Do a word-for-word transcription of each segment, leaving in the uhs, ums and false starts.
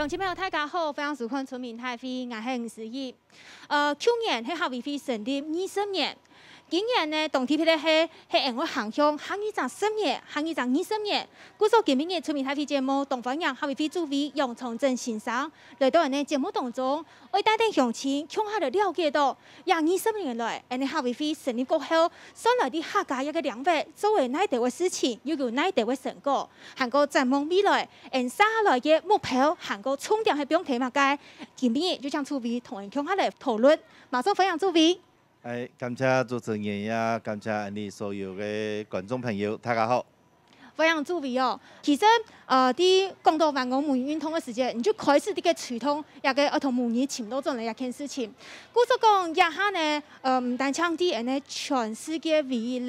觀眾朋友，大家好，歡迎收看《村民大會》，𠊎係吳思怡。呃，舊年係客委會成立二十年，今年呢，當特別个係，係𠊎等行向下二十年，下二十年。故所今晡日《村民大會》節目，當歡迎客委會主委楊長鎮先生來到𠊎等節目當中，愛帶等鄉親共下來了解到，這二十年來，𠊎等客委會成立過後，算來在客家這个領域做了哪兜个事情，又有哪兜个成果。 還過展望未來，𠊎等接下來个目標，還過重點係放在麼个？今晡日就請主委同𠊎等共下來討論。馬上歡迎主委。哎，感謝主持人，也感謝𠊎等所有个觀眾朋友，大家好。歡迎主委哦。其實，呃，在講到萬安母語運動个時節，你就開始在該推動，這个愛同母語尋到轉來這件事情。故所講，這下呢，呃，毋單淨在𠊎等全世界唯一个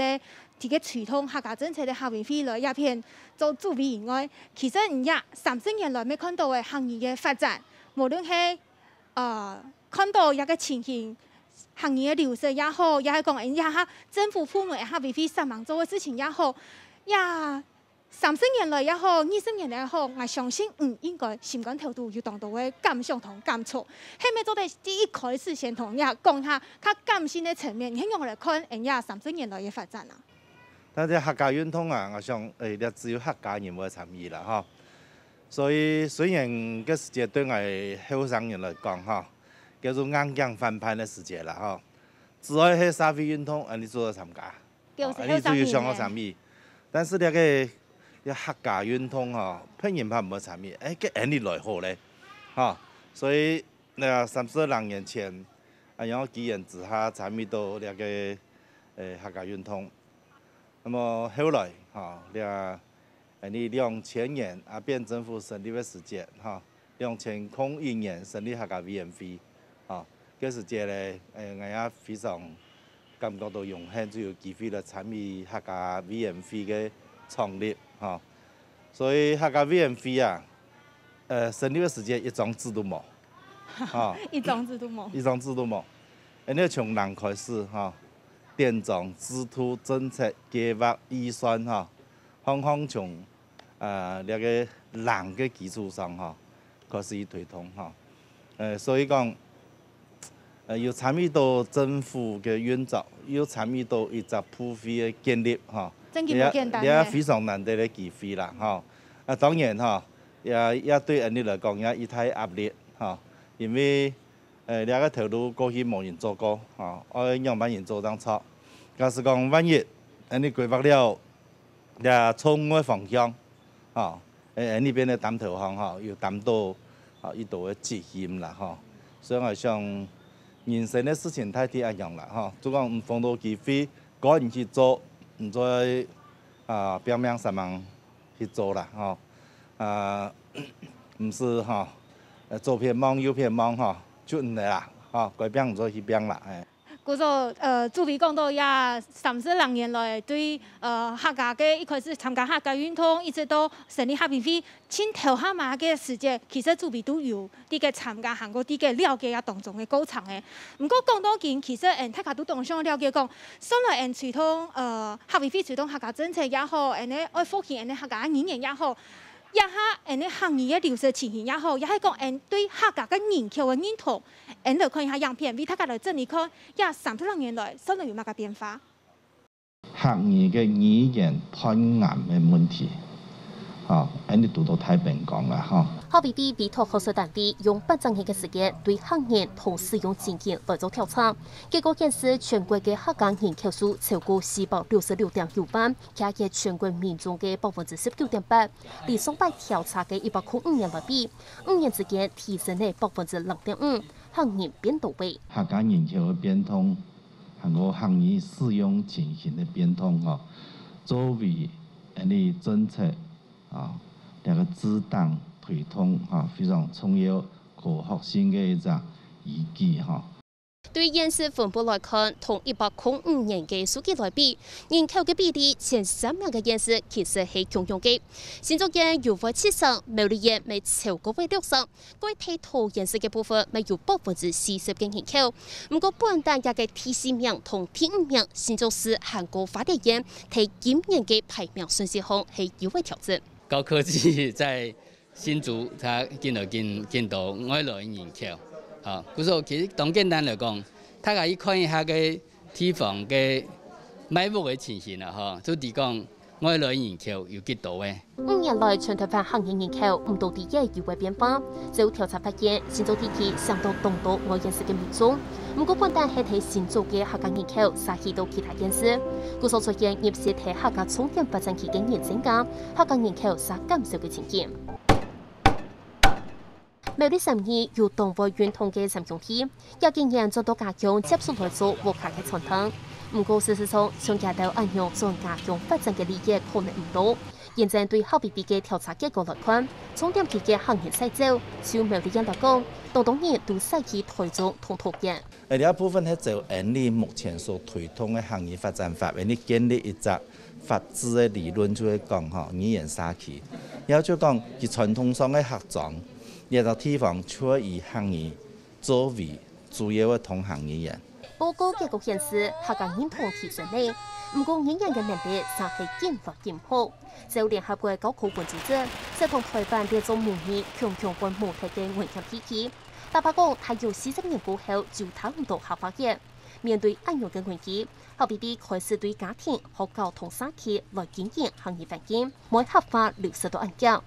在該推動客家政策个客委會來這片做主委以外，其實你這三十年來乜看到个客語个發展，無論係，呃，看到這个情形，客語个流失也好，也係講𠊎等這下政府部門个客委會上網做个事情也好，這三十年來也好，二十年來也好，𠊎相信你應該心肝頭肚有當多个感想同感觸。係毋係做得在一開始先同𠊎講一下，較感性个層面，你係仰般來看𠊎等這三十年來个發展啊？ 但係客家運動啊，𠊎想，誒，這只有客家人會參與啦，吼。所以雖然該時節對𠊎後生人來講，吼，叫做硬頸反叛个時節啦，吼。只要係社會運動，𠊎等做得參加，表示後生人呢。𠊎等就有想要參與。但是這个，這客家運動，吼，別人怕毋會參與，誒，該𠊎等來好咧，吼。所以，那三十零年前，啊，然後機緣之下參與到這个，誒，客家運動。 那麼後來，吼，這，呃，你兩千年阿扁政府成立个時節，吼，兩千空一年成立客家委員會，吼，該時節咧，呃，𠊎也非常感覺到榮幸，就有機會來參與客家委員會个創立，吼。所以客家委員會啊，呃，成立个時節一張紙都無，吼。一張紙都無。一張紙都無。𠊎等從零開始，吼。 典章、制度、政策、計畫、預算，吼，項項從，呃，這个零个基礎上，吼，開始去推動，吼。呃，所以講，呃，有參與到政府个運作，又參與到一隻部會个建立，吼。真个無簡單呢。這，這非常難得个機會啦，吼。啊，當然，吼，也，也對𠊎等來講，也一大壓力，吼，因為 誒，這个頭路過去無人做過，吼，愛仰般人做正著。假使講萬一，𠊎等規劃了，這錯誤个方向，吼，誒，𠊎等變个擔頭項，吼，有擔到，吼，一多个責任啦，吼。所以𠊎想，人生个事情大體恁樣啦，吼，就講毋逢到機會，個人去做，毋做，啊，拚命煞猛 去做啦，吼。啊，毋使，吼，呃，左片望右片望，吼，就毋得啦，吼，該拚毋做去拚啦，哎。故所，呃，主委講到這三十零年來，對，呃，客家个一開始參加客家運動，一直到成立客委會，盡頭下尾个時節，其實主委都有 在該參加，還過在該了解這當中个過程个。毋過講到今，其實，嗯，大家都當想了解講，算來𠊎等推動，呃，客委會推動客家政策也好，𠊎等愛復興𠊎等客家語言也好，這下𠊎等客語个流失情形也好，也係講𠊎等對客家个人口个認同，𠊎等來看一下影片，為大家來整理看，這三十零年來，算來有麼个變化。 客語个語言斷癌个問題，吼，恁呢堵到大本講啦，吼。客委會委託學術單位用八隻月个時間對客人同使用情境來做調查，結果顯示全國个客家人口數超過四百六十六點九萬，徛在全國民眾个百分之十九點八，比上擺調查个一百空五人來比，五年之間提升了百分之零點五，客人變多了。客家人口个變動， 還過客語使用情形个變動吼，作為𠊎等政策啊，這个治黨推動哈，非常重要、科學性个一隻依據哈。對縣市分布來看，同一百空五年个數據來比，人口个比例前三名个縣市其實係共樣个。新竹縣有會七成，苗栗縣乜超過會六成， 該在桃園市个部分乜有百分之四十个人口。毋過本旦這个第四名同第五名新竹市還過花蓮縣，在今年个排名順序項係有个調整。高科技在新竹佢緊來緊緊多外來人口，吼，故所其實當簡單來講，大家去看一下个地方个賣屋个情形啦，吼，就知講外來人口有幾多个。五年來，全台灣客人人口毋多知也有个變化。照調查發現，新竹地區相當當多外縣市个民眾，毋過本旦係在新竹个客家人口煞去到其他縣市，故所出現入息在客家重點發展區个人增加，客家人口煞減少个情形。 苗栗三義有當會運動个三兄弟，這幾年轉到家鄉接手來做屋下个餐廳。毋過事實上，像佢兜恁樣轉家鄉發展个例仔可能毋多。現在對H B B个調查結果來看，重點區个客人徙走，就苗栗縣來講，當多人都徙去台中同桃園。 誒，這部分係照𠊎俚目前所推動个客語發展法，𠊎俚建立一隻法治个理論，就係講吼，語言社區。也就講，佢傳統上个客庄，這隻地方就會以客語作為主要个通行語言。報告結果顯示，客家認同提升了，毋過語言个能力煞係緊來緊薄。照聯合國教科文組織，設同台灣列做母語強強會無忒个危險地區。 坦白講，大約四十年過後，就聽毋到客話了。面對恁樣个危機，H B B開始對家庭、學校同社區來經營客語環境，毋會客話流失到恁遽。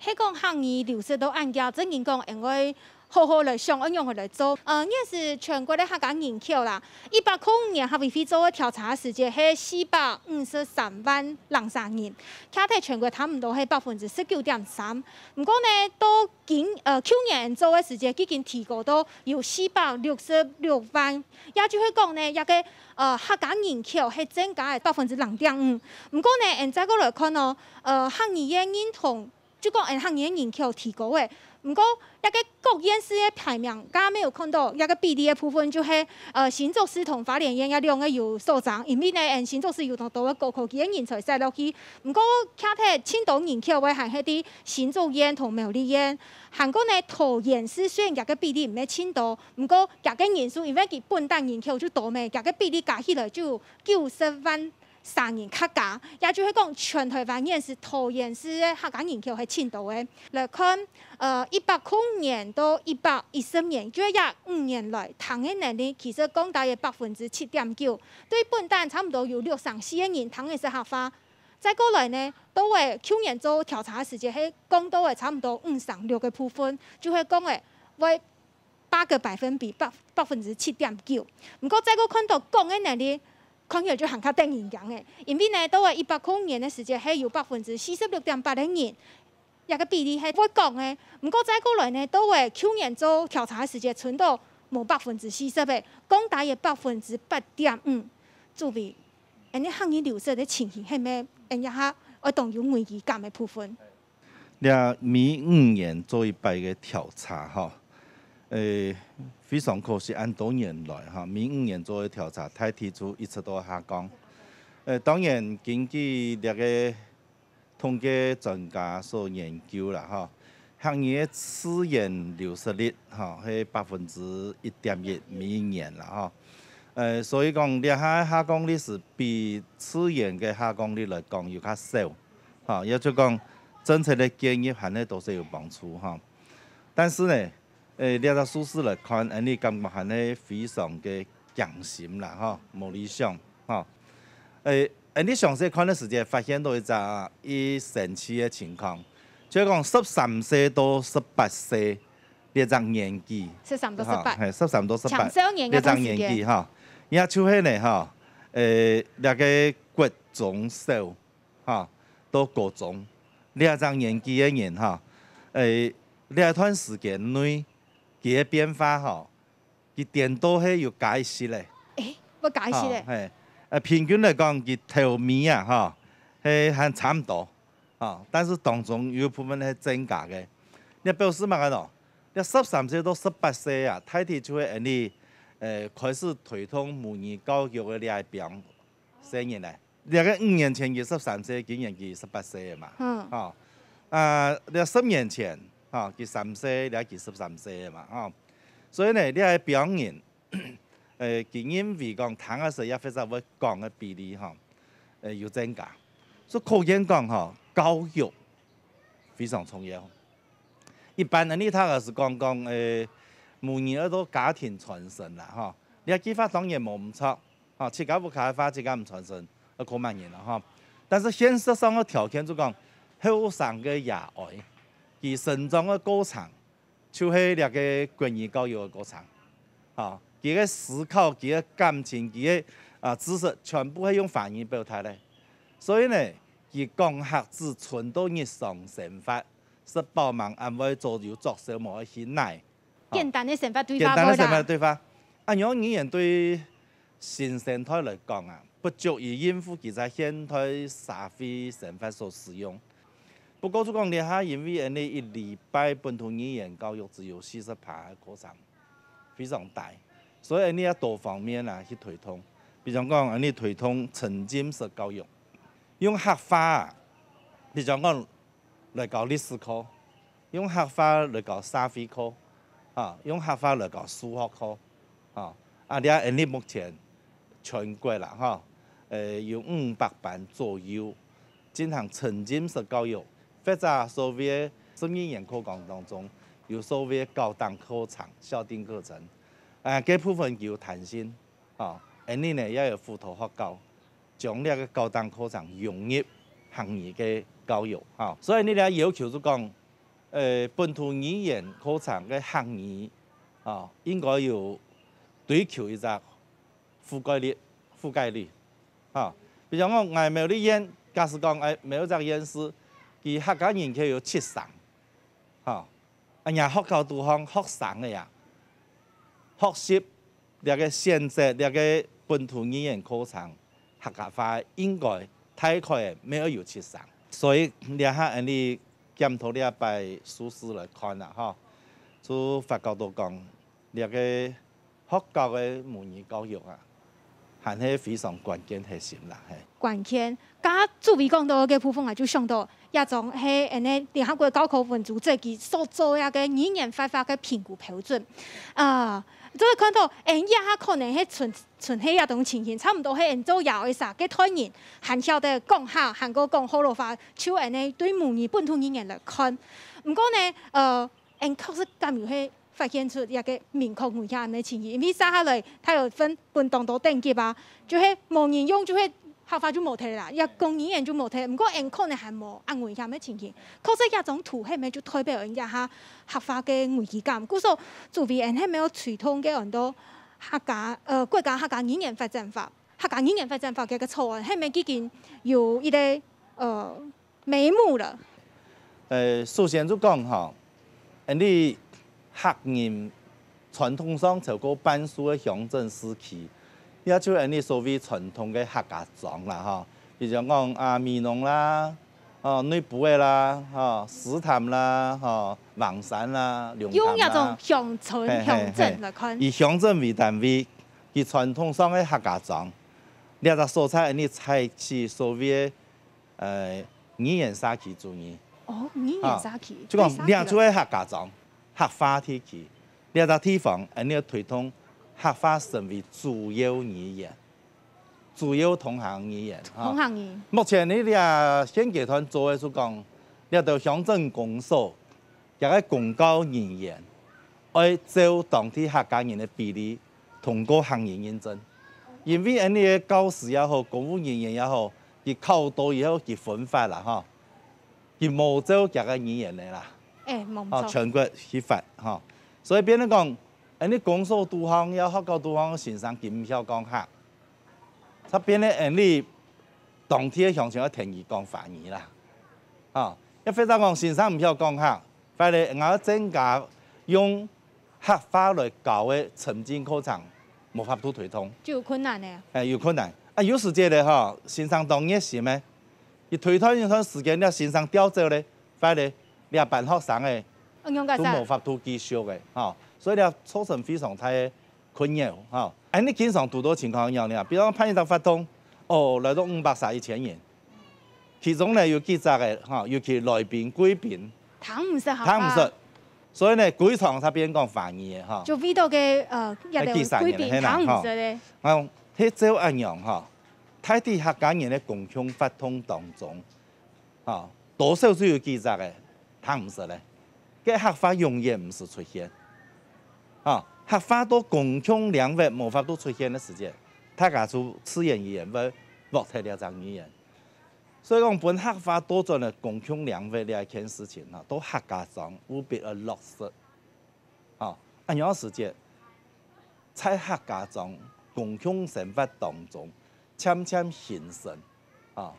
係講客語流失到恁遽，正經講，應該好好來想，愛仰般來做。呃，現時全國个客家人口啦，一百空五年客委會做个調查時節係四百五十三萬零儕人，徛在全國差毋多係百分之十九點三。 毋過呢，到今，呃，舊年做个時節，已經提高到有四百六十六萬，也就係講呢，這个，呃，客家人口係增加了百分之零點五。毋過呢，𠊎俚再過來看哦，呃，客語个認同，就講𠊎俚客語个人口提高了。毋過，這个各縣市个排名，剛剛有看到，這个比例个部分就係，呃，新竹市同花蓮縣這兩个有所爭，因為呢，𠊎俚新竹市有當多个高科技个人才徙落去， 毋過，徛忒盡多人口个還係在新竹縣同苗栗縣。還過呢，桃園市雖然佢个比例毋係盡多，毋過佢个人數因為佢本旦人口就多咩，佢个比例加起來就有九十萬儕人客家，也就係講全台灣縣市桃園市个客家人口係盡多个。來看，呃，一百空五年到一百一十年，就係這五年來，聽个能力其實降低了百分之七點九，對本旦差毋多有六成四个人聽个識客話。 再過來呢，到了舊年做調查个時節，係降到了差毋多五成六个部分，就係講了會八个百分比，百，百分之七點九。毋過再過看到講个能力，看起來就還較得人驚个，因為呢，到了一百空五年个時節，係有百分之四十六點八个人，這个比例係會講个。毋過再過來呢，到了舊年做調查个時節，伸到無百分之四十个，降低了百分之八點五。注意， 恁呢客語流失个情形係毋係𠊎俚這下愛當有危機感个部分？這每五年做一擺个調查吼，誒，非常可惜，恁多年來吼，每五年做个調查，大體就一直都下降。誒，當然，根據這个 統計專家所研究啦吼，客語个自然流失率吼，係百分之一點一每一年啦吼。呃，所以講，這下下降率係比自然个下降率來講有較少，吼，也就講政策个介入還係多少有幫助吼。但是呢， 誒，這隻數字來看，𠊎俚感覺還係非常个驚心啦吼，無理想吼。誒，𠊎俚詳細看个時節，發現到一隻異神奇个情況，就係講十三歲到十八歲這隻年紀，十三到十八。吼，係，十三到十八，青少年个這隻年紀吼，也就係呢吼，誒，這个國中小 吼，到高中，這隻年紀个人吼，誒，這段時間內，佢个變化吼，佢顛倒係有加一息咧。誒，會加一息咧。吼，係，呃，平均來講，佢頭尾啊，吼，係還差毋多，吼，但是當中有一部分係增加个。這表示麼个呢？這十三歲到十八歲啊，大體就係𠊎俚，呃，開始推動母語教育个這一幫 細人呢，這个五年前佢十三歲，今年佢十八歲了嘛。嗯。吼，啊，這十年前，吼，佢三歲，這佢十三歲了嘛，吼。所以呢，這个表人，呃，佢認為講聽个時也或者會講个比例，吼，呃，有增加。所以可見講，吼，教育非常重要。一般恁呢，大家係講講，誒，母語愛到家庭傳承啦，吼。這句話當然無毋著，吼，自家屋下个話自家毋傳承，愛靠麼人啦，吼。但是現實上个條件就講，後生个爺哀，佢成長个過程，就係這个國語教育个過程，吼，佢个思考、佢个感情、佢个，啊，知識，全部係用華語表達个。所以呢，佢講客只伸到日常生活， 食飽吂，恁會做有作秀無愛去哪。簡單个生活對話簡單个生活對話。恁樣語言對新生代來講啊，不足以應付佢在現代社會生活所使用。不過就講這下，因為恁呢一禮拜本土語言教育只有四十趴个課程，非常低，所以恁呢愛多方面啊去推動。比如講，恁呢推動沉浸式教育，用客話啊，比如講 來教歷史課，用客話來教社會課，啊，用客話來教數學課，啊，啊，這恁呢目前全國啦，吼，呃，有五百班左右進行沉浸式教育，或者所謂个十二年課綱當中，有所謂个校訂課程、校訂課程，啊，該部分有彈性，啊，恁呢呢也有輔導學校， 將這个校訂課程融入客語个教育，吼。所以呢，這要求就講，呃，本土語言課程个客語，吼，應該有追求一隻覆蓋率，覆蓋率，吼。比如講，𠊎苗栗縣，假使講，哎，某一隻縣市，佢客家人口有七成，吼， 啊，若學校肚項學生个啊，學習這个選擇這个本土語言課程，客家話應該大概乜愛有七成。所以這下恁呢檢討這擺數字來看啊，吼，就發覺到講，這个 學校个母語教育啊，還係非常關鍵核心啦，嘿。關鍵，頭拄仔講到个部分啊，就想到這種係恁呢聯合國教科文組織佢所做个語言發展个評估標準。啊，就會看到，𠊎這下可能係存，存係這種情形，差毋多係𠊎做爺哀儕个代人，還曉得講客，還過講學老話，就恁呢對母語本土語言來看。毋過呢，呃， 𠊎確實敢有係發現出一个明確危險个情形，因為接下來大學分分當多等級啊，就係無人用，就係客話就無忒啦，這講語言就無忒。毋過𠊎可能還無恁危險个情形，確實這種圖係毋係就代表𠊎這下客話个危機感？故所，主委，𠊎係毋係有推動个很多客家，呃，國家客家語言發展法，客家語言發展法个草案，係毋係已經有一个，呃， 眉目了。呃，首先就講吼，𠊎俚客人傳統上超過半數个鄉鎮市區，也就𠊎俚所謂傳統个客家庄啦，吼。比如講啊，美濃啦，吼，內埔个啦，吼，獅潭啦，吼，橫山啦，龍潭啦。用這種鄉村、嘿，嘿，鄉鎮來看。嘿。以鄉鎮為單位，佢傳統上个客家庄，這隻所在𠊎俚採取所謂个 呃，語言社區主義。哦，語言社區，啊，就講，對社區來講。這就係客家庄，客話地區，這隻地方，𠊎俚愛推動客話成為主要語言，主要通行語言，哈。通行語言。目前呢，這現階段做个就講，這兜鄉鎮公所，這个公教人員，愛照當地客家人个比例，通過客語認證。因為𠊎俚个教師也好，公務人員也好， 佢考到以後，佢分發啦，吼，佢無照厥个語言个啦，欸，無錯。吼，全國去發，吼。所以變成講，𠊎俚公所肚項，也學校肚項个先生，佢毋曉講客，就變成𠊎俚當地个鄉親愛跈佢講華語啦，吼。也或者講先生毋曉講客， 反而𠊎愛增加用客話來教个沉浸課程，無法度推動。就有困難了。欸，有困難。啊，有時節咧吼，先生當熱心个，佢推動一段時間了，先生調走咧，反而這班學生个，哦，仰結煞？都無法度繼續个，吼。所以咧，造成非常大个 困擾，吼。恁呢經常堵著情況仰呢？比如講辦一隻活動，哦，來到五百儕、一千人，其中呢有幾隻个，吼，尤其來賓、貴賓，聽毋識客話。聽毋識。所以呢，歸場就變講華語个，吼。就為著个，呃，這兜貴賓聽毋識个。啊，係照恁樣，吼，大體客家人个公共活動當中，吼，多少就有幾隻个聽毋識咧，該客話永遠毋使出現。吼，客話到公共領域無法度出現个時節，大家就自然而然會忘忒這隻語言。所以講，分客話倒轉來公共領域這一件事情，吼，到客家庄務必愛落實。吼，恁樣个時節，在客家庄公共生活當中，漸漸形成，吼，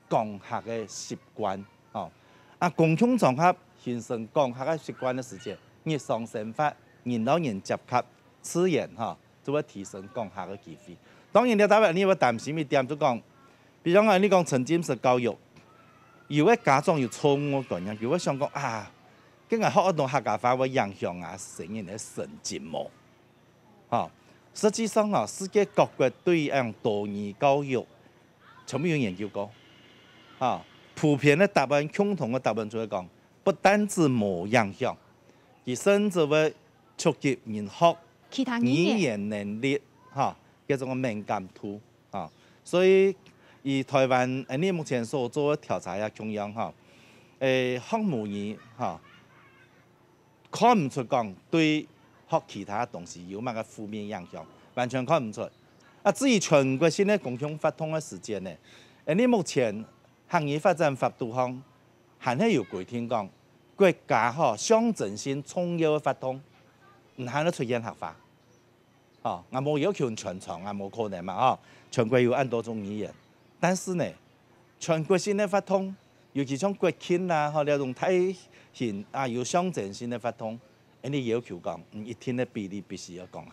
講客个習慣，吼。啊，公共場合形成講客个習慣个時節，日常生活人摎人接觸，自然，吼，就會提升講客个機會。當然，這搭位你會擔心一點，就講，比如講，你講沉浸式教育，有个家長有錯誤个觀念，佢會想講啊，該𠊎學恁多客家話會影響啊細人个成績無？吼，實際上吼，世界各國對於恁多語教育，全部有研究過。吼，普遍个答案，共同个答案就係講，不單止無影響，佢甚至會促進人學其他語言。語言能力，吼，該種个敏感度，吼。所以，以台灣，呃，你目前所做个調查也共樣，吼，誒，學母語，吼，看毋出講對學其他東西有麼个負面影響，完全看毋出。啊，至於全國性个公共活動个時間呢，誒，你目前客語發展法度項，還係有規定講，國家吼象徵性重要个活動，毋還得出現客話。 吼，𠊎無要求全場，𠊎無可能嘛，吼，全國有恁多種語言。但是呢，全國性个活動，尤其像國慶啦，吼，這種大型啊有象徵性个活動，恁樣要求講，嗯，一定个比例必須愛講客。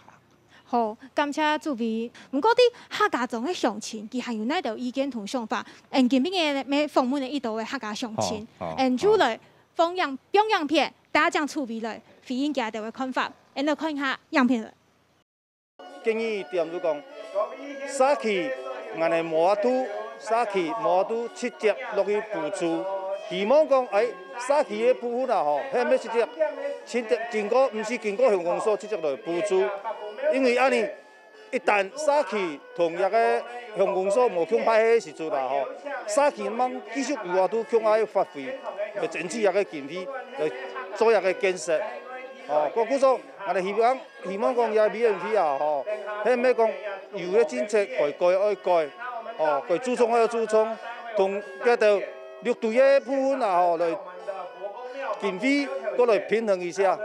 好，感謝主委。毋過，在客家庄个鄉親，佢還有哪兜意見同想法？嗯，今晡日个訪問个一兜个客家鄉親，好，好，嗯，就來放影，放影片，大家請主委來回應佢兜个看法。嗯，來看一下影片。 建議一點就講，社區𠊎等無法度，社區無法度直接落去補助。希望講，哎，社區个部分啊吼，係毋係直接，直接經過，毋係經過鄉公所直接來補助。因為恁樣，一旦社區同這个鄉公所無共配个時陣啊吼，社區吂繼續有法度共下發揮，來爭取這个經費，來做這个建設。哦，故所，𠊎等希望 希望講這委員會啊，吼，係毋係講有个政策改改愛改，吼，該注重愛注重，同該兜六堆个部分啊，吼，來經費過來平衡一下。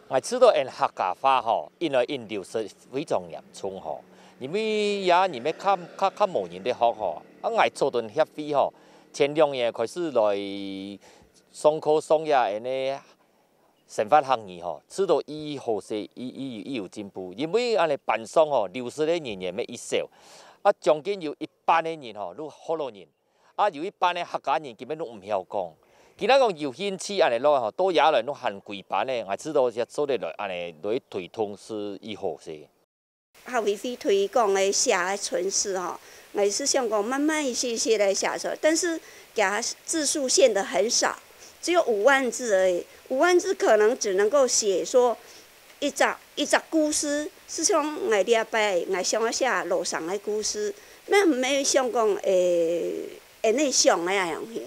𠊎知道𠊎客家話吼，因為因流失非常嚴重吼，因為也因為較較較無人咧學吼，啊𠊎做陣協會吼，前兩年開始來上課上這恁呢 生活客語吼，知道已好勢，已已已有進步，因為恁呢班上吼流失个人員乜已少，啊將近有一半个人吼都學老人，啊有一半个客家人根本都毋曉講。今仔講有興趣恁呢來吼，到這來都還歸班个，𠊎知道這做得來恁呢來推動係已好勢。 客委會推廣个寫个程式吼，𠊎係想講慢慢一息一息來寫出來，但是厥字數限得很少，只有五萬字而已。五萬字可能只能夠寫說一隻一隻故事，係像𠊎這擺𠊎想愛寫老生个故事，乜毋係想講會恁呢想个恁樣去。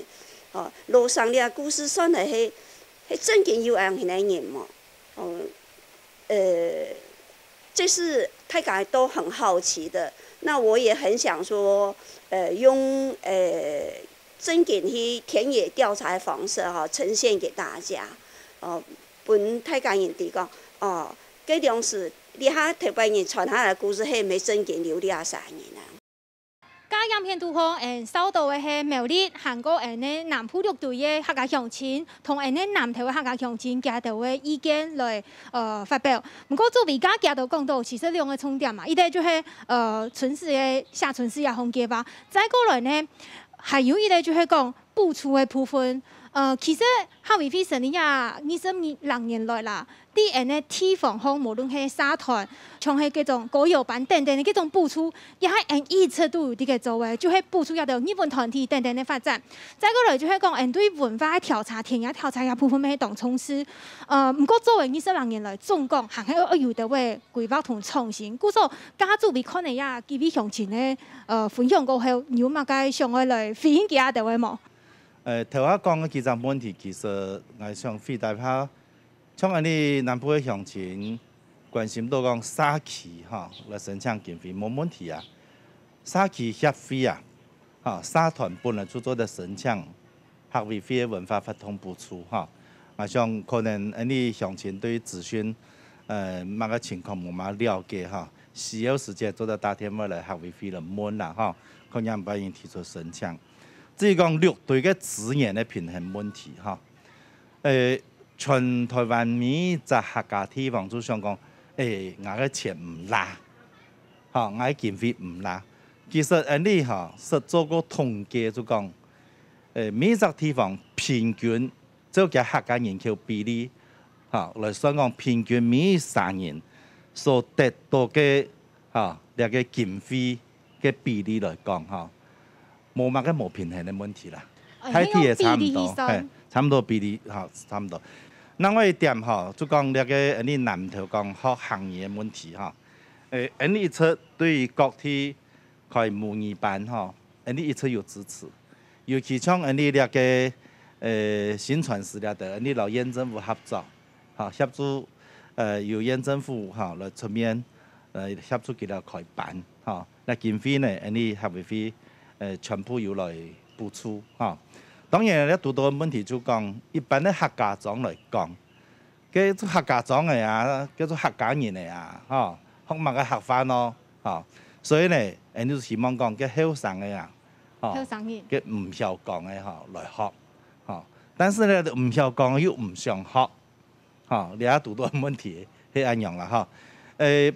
哦，老生這故事算係係真經有恁樣个人無？哦， 呃，這是大家都很好奇的。那我也很想說，呃，用呃真經去田野調查的方式哈，呈現給大家，哦，分大家人知講，哦，該當時這下頭擺人傳下來的故事，係毋係真經有這儕人啊？ 該影片肚項，𠊎等紹到个係苗栗，還過𠊎等个南部六堆个客家鄉親，同𠊎等个南投个客家鄉親，佢兜个意見來，呃，發表。毋過，作為頭先佢兜講到，其實兩個重點嘛，一個就係，呃，程式个寫程式个項目啊，再過來呢，還有一個就係講補助个部分。呃，其實客委會成立也二十零年來啦， 在𠊎等个地方項，無論係社團，像係該種歌謠班等等个該種補助，也係𠊎等一直都有在該做个，就係補助這兜藝文團體等等个發展。再過來就係講，𠊎等對文化个調查、田野調查這部分乜係當重視。呃，毋過做了二十零年來，總講還係愛有兜个規劃同創新。故所，頭先主委看了這幾位鄉親个，呃，分享過後，你有麼个想愛來回應佢兜个無？呃，頭下講个幾隻問題，其實𠊎想回答下，像恁呢南部个鄉親關心到講社區吼，來申請經費無問題啊。社區協會啊，吼，社團本來就做得申請客委會个文化活動補助吼。𠊎想可能恁呢鄉親對資訊，呃，麼个情況無麼了解吼，需要時節做得打電話來客委會來問啦吼，看仰般樣提出申請。 至於講六堆个資源个平衡問題吼，誒，全臺灣每一隻客家地方就想講，誒，𠊎个錢毋罅，吼，𠊎个經費毋罅。其實恁呢吼，識做過統計就講，誒，每一隻地方平均照佢客家人口比例，吼，來算講平均每一儕人所得到个，吼，這个經費个比例來講，吼， 無麼个無平衡个問題啦。哦，大體也差毋多，係用比例去算。係，差毋多比例，吼，差毋多。另外一點吼，就講這个，恁呢南投講學客語个問題吼，誒，恁呢一直對於各地開母語班吼，恁呢一直有支持。尤其像恁呢這个，呃，薪傳司這兜，恁呢摎縣政府合作，吼，協助，呃，由縣政府吼來出面，呃，協助佢兜開班吼。 該經費呢，恁呢客委會，呃，全部有來補助，吼。當然，這堵到个問題就講，一般个客家庄來講，該做客家庄个啊，叫做客家人个啊，吼，學麼个客話呢，吼。所以呢，恁呢就希望講，該後生个啊，吼，後生人。該毋曉講个吼，來學，吼。但是呢，毋曉講又毋想學，吼，這堵到个問題係恁樣啦，吼。誒，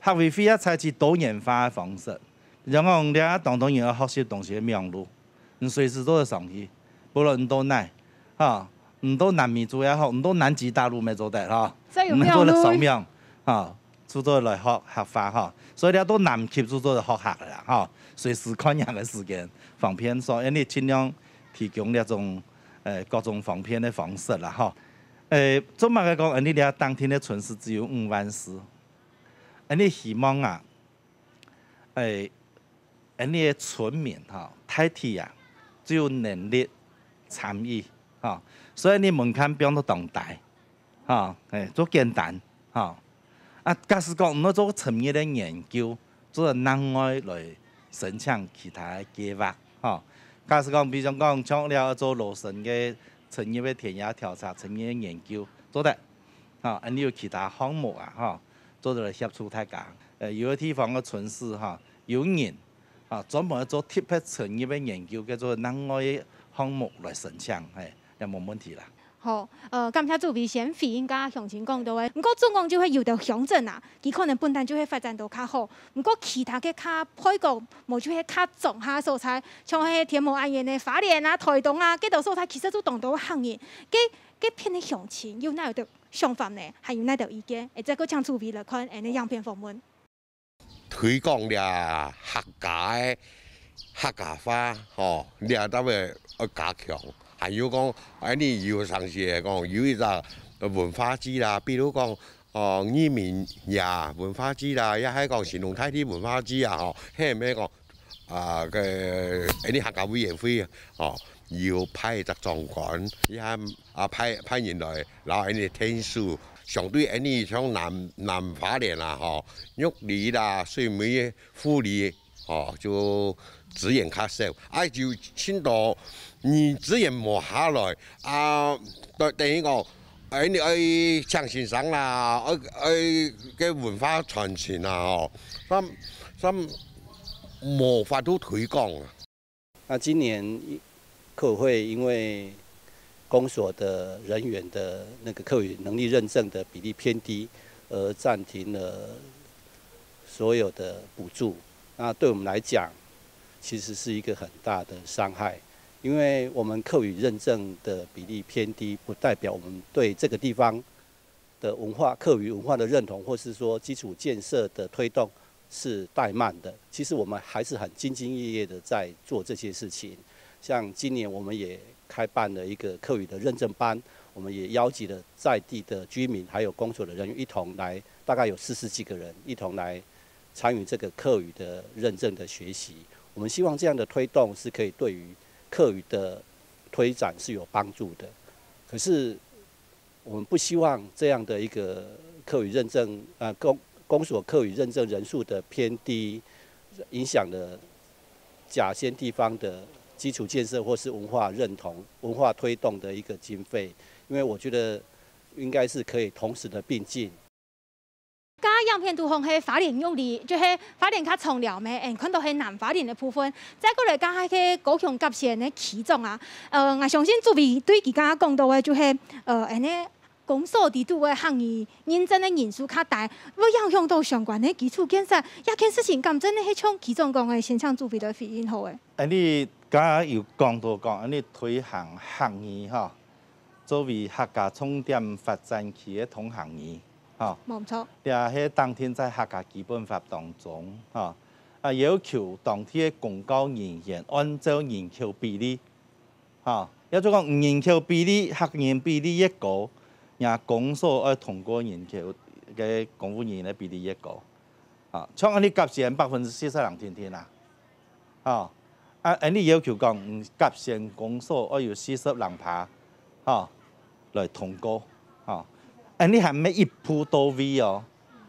客委會也採取多元化个方式，比如講，你啊，當多人愛學習東西个網路，你隨時做得上去，無論你到哪，吼，你到南美洲也好，你到南極大陸乜做得，吼，所以有你乜做得上網，吼，就做得來學客話，吼，所以你啊，到南極就做得學客个啦，吼，隨時看人个時間方便，所以你盡量提供這種，呃，各種方便个方式啦，吼。呃，做麼个講，恁呢這當天个春事只有五萬四？ 恁呢希望啊，誒，恁呢个村民吼，大體啊，就有能力參與，吼，所以你門檻放到當低，吼，誒，做簡單，吼。啊，假使講毋愛做深入个研究，做得另外來申請其他个計畫，吼。假使講，比如講，像了做羅森个深入个田野調查、深入个研究，做得，吼，恁呢有其他項目啊，吼。 做得來協助大家。呃，有个地方个村市吼，有人啊，專門做特別深入个研究，叫做另外个項目來申請，係，也無問題啦。好，呃，感謝主委先回應佮鄉親講到个。毋過總講就係有兜鄉鎮啊，佢可能本旦就係發展到較好，毋過其他个較背角，無就係較庄下所在，像係天母恁樣个花蓮啊、臺東啊，該兜所在其實就當多客人。該該片个鄉親有哪有兜 想法呢，還有哪兜意見？會再過請主委來看恁呢影片訪問。推廣這客家个客家話，吼，這兜个愛加強。還有講，恁呢有常時會講有一隻文化祭啦，比如講，哦，義民爺文化祭啦，也係講神農大帝文化祭啊，吼，係毋係講 啊，个，恁呢客家委員會，吼，有派一隻長官，也啊派派人來，然後恁呢𢯭手，相對恁呢像南南花蓮啦，吼，玉里啦、水美、富里，吼，就資源較少，啊，就盡多，你資源無下來，啊，等等於講， 哎，你愛請先生啦，愛愛个文化傳承啦，吼，三三無法度推廣啊。那今年客委會因為公所的人員的那個客語能力認證的比例偏低，而暫停了所有的補助。那對我們來講，其實是一個很大的傷害，因為我們客語認證的比例偏低，不代表我們對這個地方的文化、客語文化的認同，或是說基礎建設的推動是怠慢的。其實我們還是很兢兢業業的在做這些事情。像今年我們也開辦了一個客語的認證班，我們也邀集了在地的居民，還有公所的人員一同來，大概有四十幾個人一同來參與這個客語的認證的學習。我們希望這樣的推動是可以對於客語的推展是有帮助的。可是我们不希望这样的一个客语认证，呃，公公所客语认证人数的偏低，影响了甲仙地方的基础建设或是文化认同、文化推动的一个经费。因为我觉得应该是可以同时的并进。 該影片肚項係花蓮玉里，就係花蓮較長寮咩，嗯，看到係南花蓮个部分。再過來，該係高雄甲仙个區長啊，呃，𠊎相信主委對佢剛剛講到个，就係，呃，恁呢公所裡肚个客語認證个人數較低，會影響到相關个基礎建設。這件事情敢真个係像區長講个，先請主委來回應好誒。恁呢，剛剛有講到講，恁呢推行客語吼，作為客家重點發展區个通行語。 吼。無錯。這係當定在客家基本法當中，吼，啊，要求當地个公教人員按照人口比例，吼，也就講人口比例、客人比例越高，若公所愛通過人口个公務人員个比例越高。啊，像恁呢甲仙百分之四十人定定啊， 吼，啊，恁呢要求講，嗯，甲仙公所愛有四十零趴，吼，來通過，吼。恁呢還毋係一步到位哦，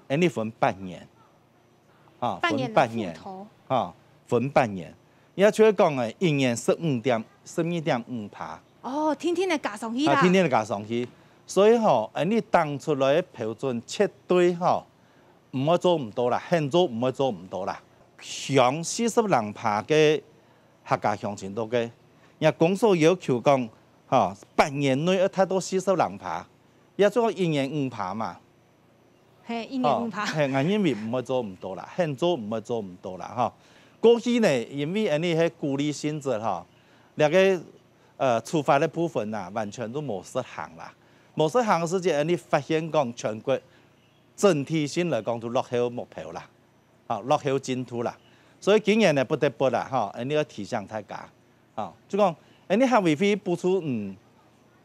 恁呢分八年，吼，八年分八年，來付頭。吼，分八年。也就係講，誒，一年十五點，十二點五趴。哦，定定个加上去啦。啊，定定个加上去。所以吼，恁呢定出來个標準絕對吼， 毋會做毋到啦，肯做毋會做毋到啦。鄉四十零趴个客家鄉親多个，若公所要求講，吼，八年內愛達到四十零趴，也做一年五趴嘛。係，一年五趴。吼，係，𠊎認為毋會做毋到啦，肯做毋會做毋到啦，吼。過去呢，因為恁呢係鼓勵性質，吼，這个，呃，處罰个部分啊，完全都無實行啦。無實行个時節，恁呢發現講全國 整體性來講就落後目標啦，吼，落後進度啦。所以今年呢，不得不啦，吼，恁呢愛提醒大家，吼，就講，恁呢客委會補助，嗯，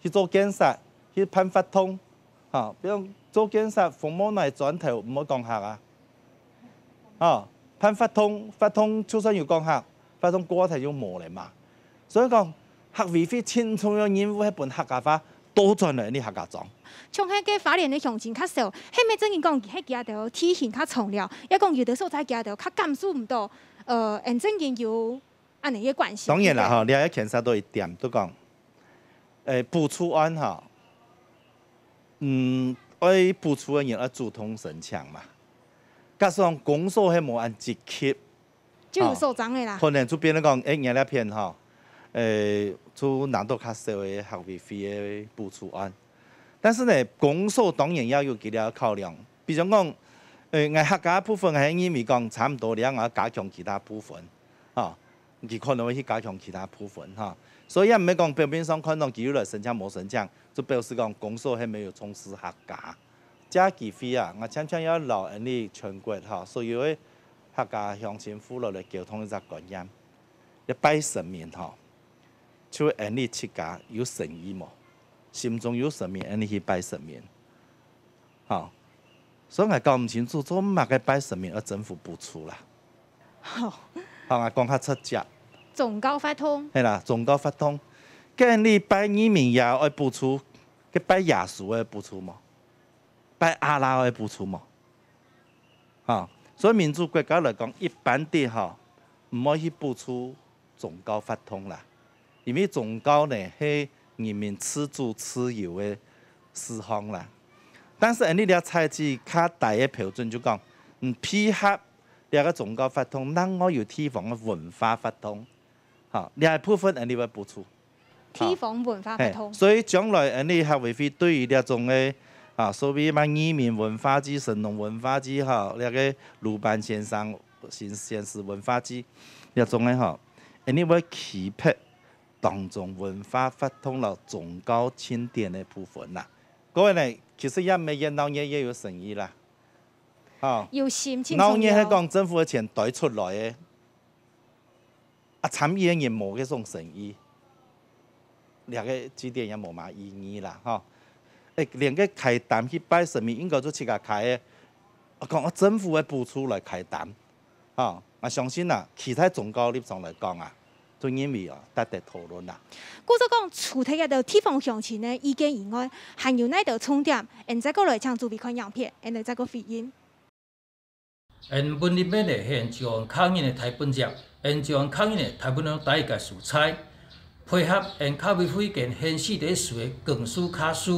去做建設，去辦活動，吼，比如做建設，紅毛泥磚頭毋會講客啊，吼，辦活動，活動就算有講客，活動過後就無了嘛。所以講，客委會盡重要任務係分客家話 倒轉來你客家庄。像係該花蓮个鄉親較少，係毋係正經講，係佢兜地形較長了，也講有个所在佢兜較感受毋到，呃，恁正經有恁呢个關係。當然啦，吼，你還要牽涉到一點，就講，誒，補助案吼，嗯，愛補助个人愛主動申請嘛。加上公所係無恁積極， 就有所長个啦。可能就變成講，誒，你這片吼，誒，就拿到較少个客委會个補助案。但是呢，公所當然也有佢个考量，比如講，誒，𠊎客家部分還認為講差毋多了，𠊎愛加強其他部分，吼，佢可能會去加強其他部分，吼。所以也毋係講表面上看到佢有來申請無申請，就表示講公所係沒有重視客家。 這機會啊，𠊎常常愛摎恁呢全國吼，所有个客家鄉親父老來溝通一隻觀念。你拜神明吼，就恁呢自家有誠意無？心中有神明，恁呢去拜神明。吼，所以𠊎搞毋清楚，做麼个拜神明愛政府補助啦？好，𠊎講較直接。宗教活動。係啦，宗教活動。該你拜義民爺愛補助，該拜耶穌愛補助無？ 拜阿拉个補助無？吼，所以民主國家來講，一般的吼，毋會去補助宗教活動啦，因為宗教呢係人民自主自由个事項啦。但是恁呢這採取較低个標準，就講，嗯，配合這个宗教活動，另外有地方个文化活動，吼，這部分恁呢會補助。 地方文化活動。嘿，所以將來恁呢客委會對於這種个，啊，所謂嘛義民文化祭、神農文化祭吼，這个魯班先生、先、先師文化祭，這種个吼，恁呢會區別當中文化活動摎宗教慶典个部分啦。各位呢，其實也毋係越鬧熱越有誠意啦，吼。有心，鬧熱係講政府个錢袋出來个。 啊，參與个人無該種誠意，這个祭典也無麼意義啦，吼。誒，連該開擔去拜神明，應該就自家開个，啊，講啊政府个補助來開擔，吼。𠊎相信啊，企在宗教立場來講啊，都認為啊，值得討論啦。故所講，除忒這兜地方鄉親个意見以外，還有哪兜重點？𫣆再過來請主委看影片，𫣆來再過回應。𫣆文林个呢，係𫣆詔安客人个大本營，𫣆詔安客人呢，大部分都戴个所在，配合𫣆客委會跟縣市个所个公司客事，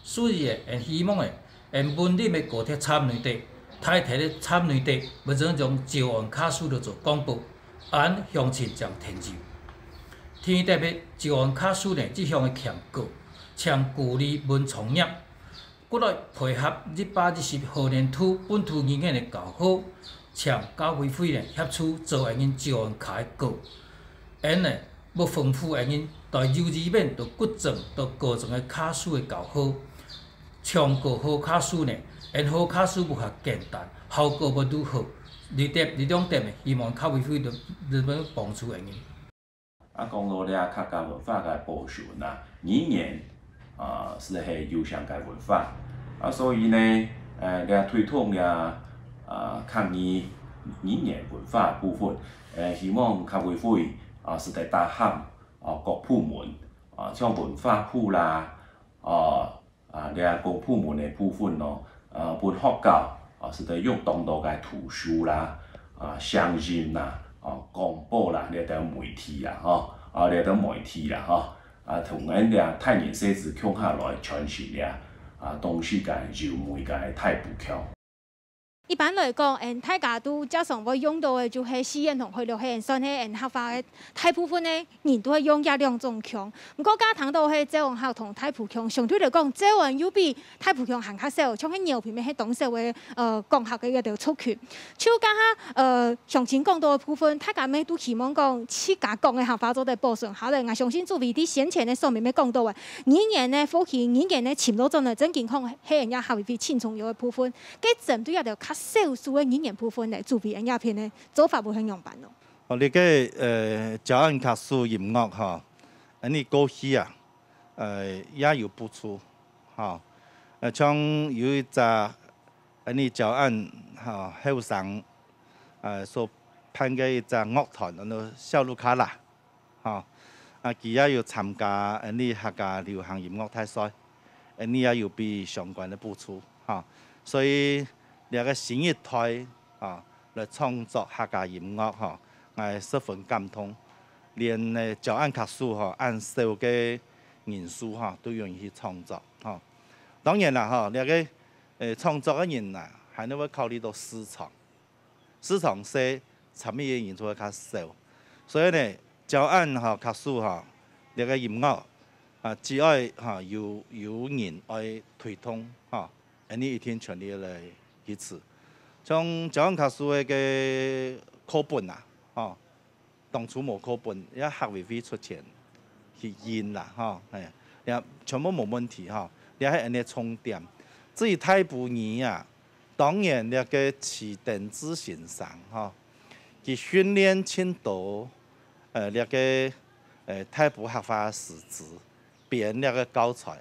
所以呢，𫣆希望呢， 𫣆文林个高鐵站內底、大鐵个站內底，會將詔安客事來做廣播，恁鄉親正聽有。第二點係，詔安客事呢，一向个強調，強鼓勵文創業，過來配合一百一十學年度本土語言个教學，請教委會呢協助做𫣆人詔安客个歌。𫣆呢，欲豐富𫣆人對幼稚園到國中到高中个客事个教學。 唱歌好客事呢，𫣆好客事無較簡單，效果無愈好。這點，這兩點呢，希望客委會能，能夠幫助𫣆人。啊，講到這客家文化个保存啊，語言啊，係，係有形个文化啊，所以呢，呃，這推動這啊客語語言文化部分，呃，希望客委會啊，係得搭合啊各部門啊，像文化部啦，啊， 啊，這公部門个部分咯，啊，分學校啊，係得用當多个圖書啦，啊，聲音啦，啊，廣播啦，這兜媒體啦，吼，啊，這兜媒體啦，吼，啊，同𫣆這大人細子共下來傳承這，啊，當時个優美个大埔腔。 一般來講，𫣆大家都較常會用到个就係四縣同海陸，係算係𫣆客話个大部分呢，人都會用這兩種腔。毋過，頭先講到係詔安客同大埔腔，相對來講，詔安又比大埔腔還較少，像係饒平乜係當少个，呃，講客个一條族群。就頭先，呃，鄉親講到个部分，大家乜都希望講自家講个客話做得保存下來。𠊎相信主委在先前个說明乜講到个，語言个復興，語言个尋路轉來，正經講係𫣆客委會盡重要个部分。 該針對這兜較少數个語言部分呢，主委𫣆這片个做法會係仰般呢？哦，這个，呃，詔安客事音樂吼，恁呢過去啊，呃，也有補助，吼。呃，像有一隻恁呢詔安，吼，後生，呃，所辦个一隻樂團，安到小盧卡拉。 吼，啊，佢也有參加𫣆俚客家流行音樂大賽，𫣆俚也有分相關个補助，吼。所以這个新一代，吼，來創作客家音樂，吼，𠊎十分感動。連，呃，詔安客事，吼，恁少个人數，吼，都願意去創作，吼。當然啦，吼，這个，呃，創作个人啊，還會考慮到市場。 市場細，參與个人就會較少。所以呢，詔安吼，客事吼，這个音樂啊，只愛吼有，有人愛推動吼，𫣆俚一定全力來支持。像詔安客事个課本啊，吼，當初無課本，也客委會出錢去印啦，吼，嘿，也全部無問題吼。這係𫣆俚个重點。至於大埔語啊， 當然，這个徐登志先生，吼，佢訓練盡多，呃，這个，呃，大埔客話个師資，編這个教材，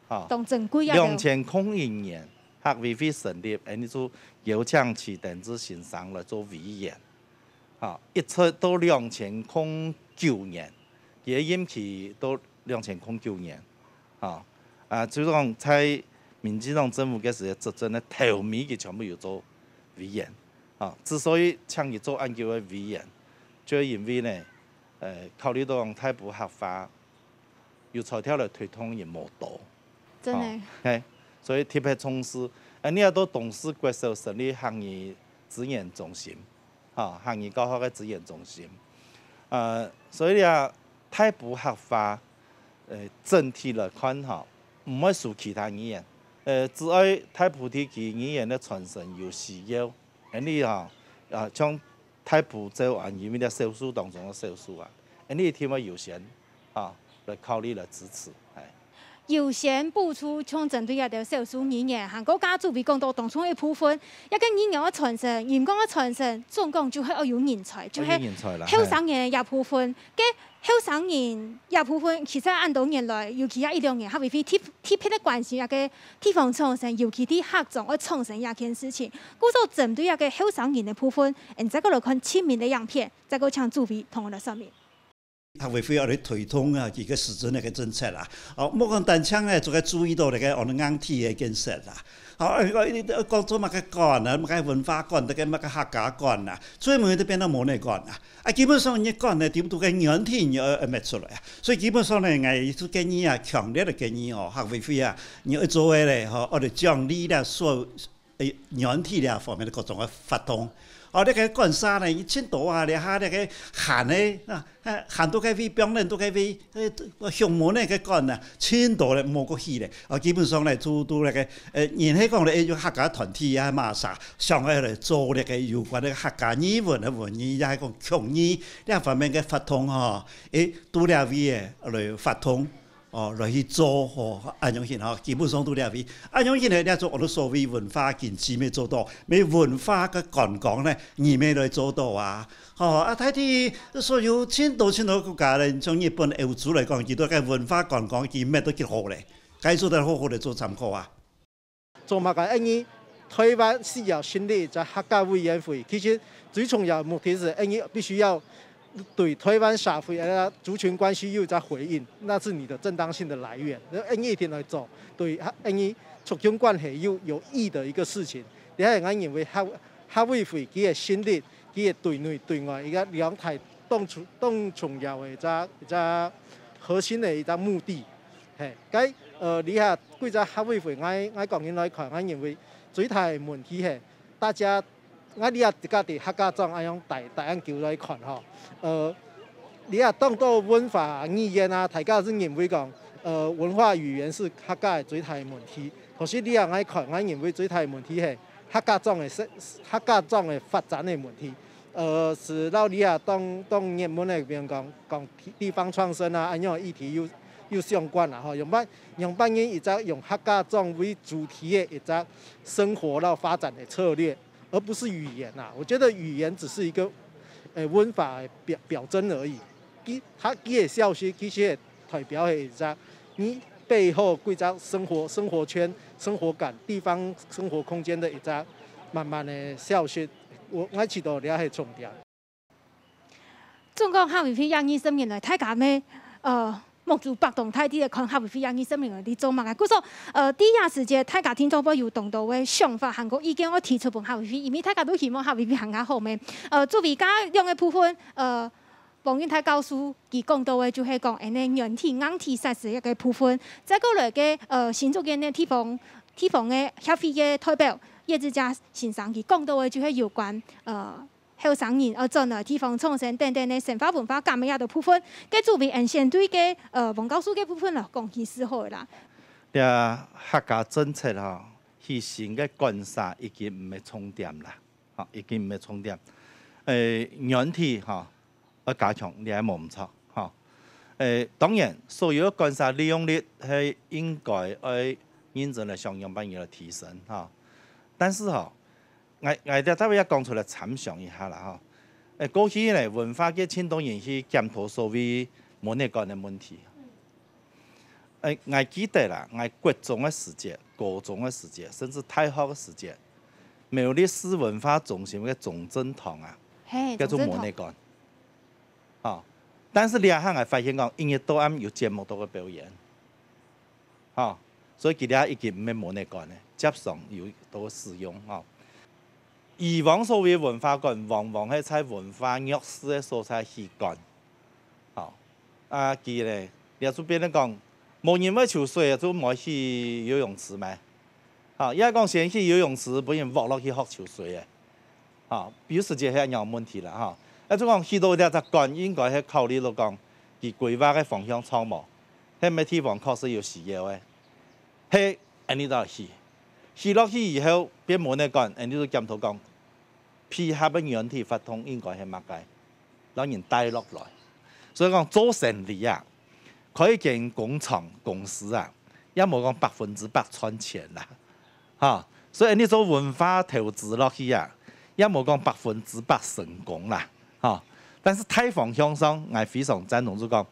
吼。當珍貴啊。兩千空一年，客委會成立，𫣆俚就邀請徐登志先生來做委員，吼，一直到兩千空九年，佢个任期到兩千空九年，吼。啊，就係講在 民進黨政府該時个執政个頭尾，佢全部有做委員。啊，之所以請佢做恁久个委員，就係因為呢，呃，考慮到講大埔客話有材料來推動人無多。真个。哦，嘿，所以特別重視。啊，你也到東勢國小成立客語資源中心，吼，客語教學个資源中心。呃，所以啊，大埔客話 呃，整體來看吼，毋會輸其他語言。呃，只愛大埔地區語言个傳承有需要，恁呢吼，啊，像大埔詔安，因為這少數當中个少數啊，恁呢一定會優先啊，來考慮來支持，哎。優先補助，像針對這兜少數語言，還過頭先主委講到當中一部分，這个語言个傳承、音樂个傳承，總講就係愛有人才，就係愛有人才啦，後生人个這部分。該 後生人這部分，其實恁多年來，尤其這一兩年，客委會特，特別个關心這个地方創生，尤其在客庄愛創生這件事情。故所針對這个後生人个部分，𫣆再過來看前面个影片，再過請主委同𠊎來說明。客委會愛來推動啊，佢个施政个政策啦。哦，莫講單淨呢，做个注意到這个哦硬體个建設啦。哦，講做麼个館啊，麼个文化館，這个麼个客家館啊，最尾都變到文化館啊。啊，基本上你館呢，點都个軟體你愛愛搣出來啊。所以基本上呢，𠊎就建議啊，強烈个建議哦，客委會啊，你愛做个咧，吼，愛來獎勵咧所 誒，軟體這方面个各種个活動。哦，這个館舍呢，盡多啊，這下這个閒个啊，閒到該位，放人到該位，誒，鄉門个个館啊，盡多咧，無過去咧。哦，基本上咧，都都那个，呃，人係講咧，誒，有客家團體啊，麼儕想愛來做這个有關个客家語文个文藝，也係講曲藝這方面个活動吼，誒，都這位个來活動。 哦，來去做吼，恁樣形吼，基本上都這位。恁樣形呢，這種我們所謂文化經濟乜做到，乜文化个觀光呢，你乜來做到啊。吼，啊，大體所有盡多盡多國家呢，像日本、歐洲來講，佢兜个文化觀光已經搣到幾好咧，該做得好好个做參考啊。 做麼个？因為台灣需要成立一隻客家委員會，其實最重要的目的是，因為必須要對台灣社會的族群關係有一隻回應，那是你的正當性的來源。因為一定來做，對，因為族群關係有有益的一個事情。這係𠊎認為客客委會佢个成立，佢个對內對外一個兩大當重當重要的一隻一隻核心的一隻目的。 嘿，該，呃，這下幾隻客委會，𠊎𠊎講起來看，𠊎認為最大个問題係，大家，𠊎這下自家在客家庄恁樣大大恁久來看吼，呃，這下當多文化語言啊，大家係認為講，呃，文化語言係客家个最大个問題。可是這下𠊎看，𠊎認為最大个問題係客家庄个發客家庄个發展个問題。 呃，係摎這下當當熱門个，比如講講地地方創生啊，恁樣个議題有有相關啦吼。仰般仰般形一隻用客家庄為主題个一隻生活摎發展个策略，而不是語言啊。我覺得語言只是一個，呃，文化的表表徵而已。佢佢个消失，其實代表个一隻，你背後幾隻生活生活圈、生活感、地方生活空間个一隻慢慢个消失。 𠊎𠊎試著這係重點。總講客委會也二十年來，大家乜，呃，目珠擘當大，在看客委會也二十年來在做麼个。故所，呃，在這時節，大家聽眾會有當多个想法，還過意見愛提出分客委會，因為大家都希望客委會還較好咩。呃，作為這兩個部分，呃， 黃永泰教授佢講到个就係講，恁呢軟體、硬體設施个部分，再過來个，呃，新竹縣个地方地方个協會个代表葉志佳先生，佢講到个就係有關，呃，後生人愛轉來地方創生等等个生活文化感个這兜部分。該作為恁先對个，呃，黃教授个部分來講，其實好个啦。這客家政策吼，起新个館舍已經毋係重點啦，吼，已經毋係重點。誒，軟體吼， 愛加強，這係無毋著，吼。誒，當然，所有个館舍利用率係應該愛認真來想仰般來提升，吼。但是吼，𠊎𠊎這特別也講出來參詳一下啦，吼。誒，過去呢，文化界盡多人去檢討所謂文藝館个問題。誒，𠊎記得啦，𠊎國中个時節、高中个時節，甚至大學个時節，苗栗市文化中心个中正堂啊，嘿，叫做文藝館。 吼。但是這下𠊎發現講，一日到暗有節目都會表演，吼，所以佢這已經毋係文藝館咧，輒常有都使用，吼。以往所謂文化館，往往係在文化弱勢个所在起館，吼。啊，佢咧，這就變成講，無人會泅水，就毋會起游泳池咩？ 吼，也講先起游泳池，分人㧒落去學泅水个。吼，有時節係恁樣問題啦，吼。啊，就講起到這隻館，應該係考慮到講，佢規劃个方向著無？係麼个地方確實有需要个，係恁呢就起。起落去以後，變文藝館，恁呢就檢討講，配合个軟體活動應該係麼个？ 摎人帶落來。所以講做生理啊，開一間工廠、公司啊，也無講百分之百賺錢啦，吼。所以你做文化投資落去啊，也無講百分之百成功啦，吼。但是大方向上，𠊎非常贊同就講，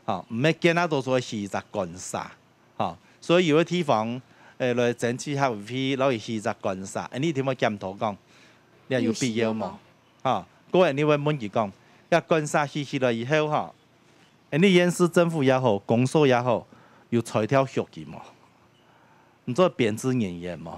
吼，毋係見啊到時候起一隻館舍， 吼，所以有个地方，誒，來爭取客委會，摎佢起一隻館舍，恁呢一定會檢討講，這有必要無？有需要無？吼，過後你會問佢講，這館舍起起來以後，吼，恁呢縣市政府也好，公所也好，有裁掉學期無？你做編制人員無？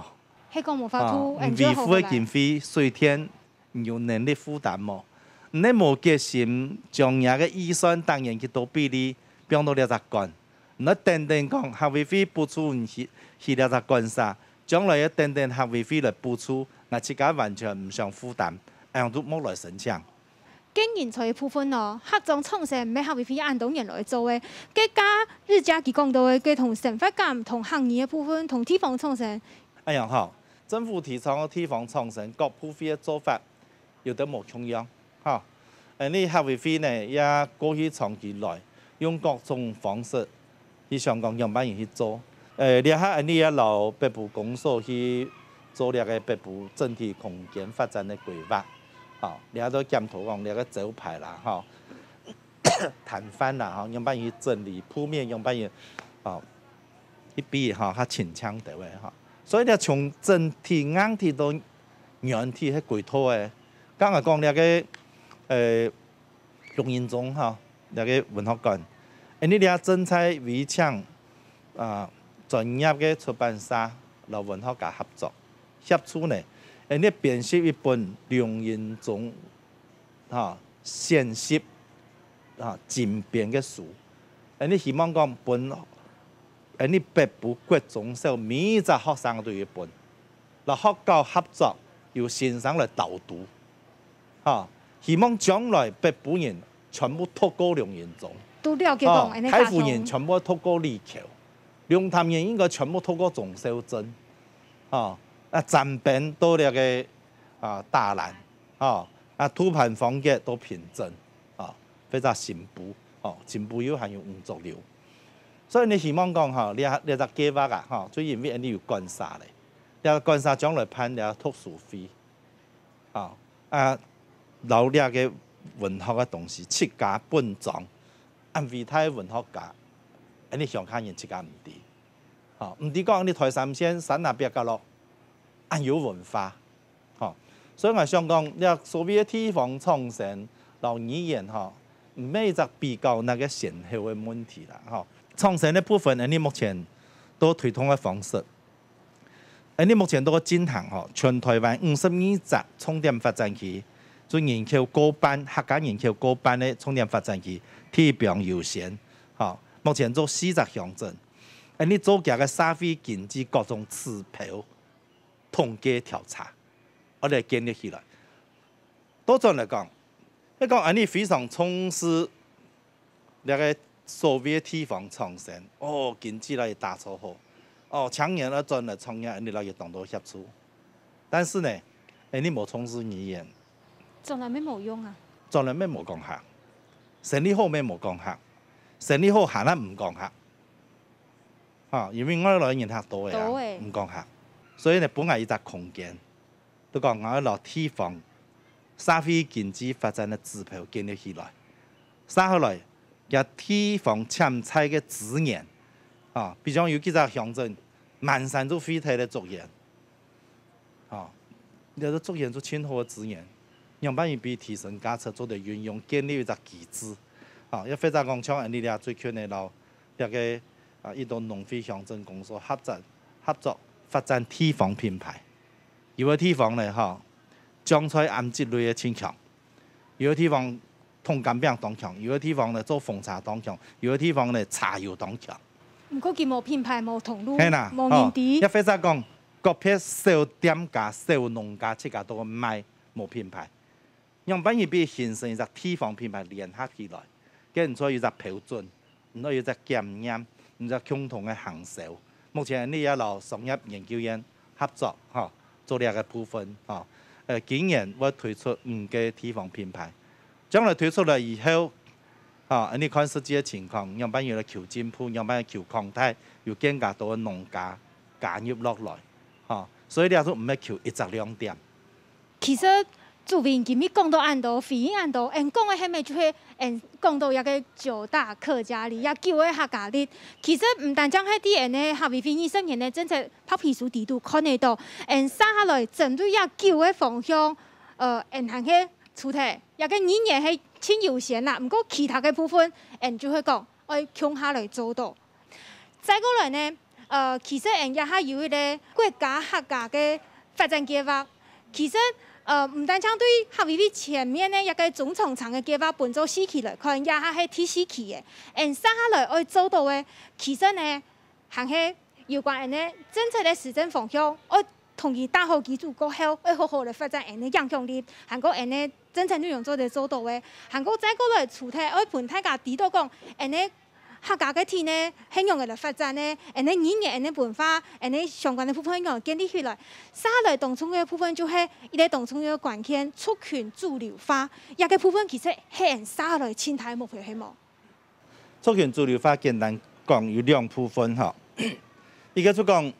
係講無法度，啊，你維護个經費、水電，你有能力負擔無？你無決心將若个預算逐年去做比例，放到這隻館，你等等講，客委會補助你去，去這隻館舍，將來又等等客委會來補助，𠊎自家完全毋想負擔，恁樣就莫來申請。 該人才个部分哦，客庄創生毋係客委會恁多年來做个，該假日假期講到个，該同生活感、同客語个部分、同地方創生。恁樣吼，政府提倡个地方創生，各部會个做法有兜無共樣，吼。呃，你客委會呢，也過去長期來用各種方式 去想講仰般樣去做。呃，這下𠊎俚也摎北部公所去做這个北部整體空間發展个規劃。吼，這下都檢討講這个招牌啦，吼，攤販啦，吼，仰般樣去整理，鋪面仰般樣，吼，去比，吼，較清淨兜仔，吼。所以呢，從整體硬體到軟體係歸套个。剛才講這个，呃， 綠蔭中吼，這个文學館。恁呢這正在委請，啊，專業个出版社摎文學家合作，協助呢，恁呢編輯一本綠蔭中，吼，選集，啊，精編个書。恁呢希望講分，恁呢北部國中小每一隻學生都有一本，摎學校合作，由先生來導讀。 吼，希望將來北部人全部讀過綠蔭中，都了解講，哦，恁呢大眾。大湖人全部讀過李喬，龍潭人應該全部讀過鍾肇政，吼，啊，展鵬到這个，啊，大蘭，吼，啊，杜潘芳格到平鎮，吼，或者新埔，吼，新埔又還有吳濁流。所以呢，希望講，吼，這，這隻計畫啊，吼，就因為恁呢有館舍咧，這館舍將來辦這讀書會， 吼，啊，摎這个文學个東西自家本莊，恁偉大个文學家，恁呢鄉下人自家毋知。吼，毋知講你台三線山那壁角落，恁有文化。吼，所以𠊎想講，這所謂个地方創生摎語言吼，毋係一隻比較哪个先後个問題啦，吼。創生个部分，恁呢目前都推動个方式， 恁呢目前都進行吼，全台灣五十二隻重點發展區，就人口過半，客家人口過半个重點發展區，地方優先，吼，目前做四隻鄉鎮。恁呢做佢个社會經濟各種指標統計調查，𠊎來建立起來。倒轉來講，你講恁呢非常重視 這个所謂个地方創生，哦，經濟來打造好，哦，青年來轉來創業，恁呢來有當多協助。但是呢，哎，你無重視語言，轉來乜無用啊。轉來乜無講客，生理好乜無講客，生理好還係毋講客。哈，因為外來人較多个啊，多欸。毋講客，所以呢，分𠊎一隻空間。 都講𠊎愛摎地方社會經濟發展个指標建立起來。接下來，這地方潛在个資源，啊，比如講有幾隻鄉鎮，滿山就廢忒个竹園，啊，這个竹園就盡好个資源，仰般樣去提升價值，做得運用，建立一隻機制，啊，也或者講像恁呢這最近个摎這个，啊，一兜農會鄉鎮公所合作，合作發展地方品牌。 有个地方呢，吼，醬菜醃製類个盡強；有个地方熥柑餅當強；有个地方呢，做紅茶當強；有个地方呢，茶油當強。毋過佢無品牌，無通路，係啦，無人知。吼，也或者講，各片小店家、小農家自家都賣，無品牌。 仰般樣去形成一隻地方品牌聯合起來，該你做有一隻標準，你愛有一隻檢驗，你一隻共同个行銷。目前你也摎商業研究院合作，吼，做這个部分，吼。呃，今年會推出五个地方品牌，將來推出來以後，吼，你看實際个情況，仰般樣來求進步，仰般樣求擴大，有更加多个農家加入落來，吼。所以這就毋係求一隻亮點。 其實主委今日講到恁多，回應恁多，𠊎講个係乜就係𠊎講到這个九大客家里，這九个客家里。其實毋單淨係在𠊎个客委會二十年个政策白皮書底肚看得到，𠊎接下來針對這九个方向，呃，𠊎還係除忒，這个語言係盡優先啦，毋過其他个部分，𠊎就會講愛共下來做到。再過來呢，呃，其實𠊎這下有一個國家客家个發展計畫，其實，呃，毋單淨對客委會前面个一個中長程个計畫分做四期來看，這下係第四期个。𠊎接下來愛做到个，其實呢， 還係有關𠊎等个政策个施政方向，愛同佢打好基礎過後，愛好好來發展𠊎等个影響力，還過𠊎等个政策內容做得做到个，還過再過來除忒愛分大家知道講，𠊎等个客家个體呢，係仰仔來發展呢，𠊎等个語言、𠊎等个文化、𠊎等个相關个部分係仰仔建立起來。接下來當重要个部分就係一個當重要个關鍵，族群主流化，這個部分其實係𠊎等接下來盡大个目標，係無？ 族群主流化簡單講有兩部分吼。一個就講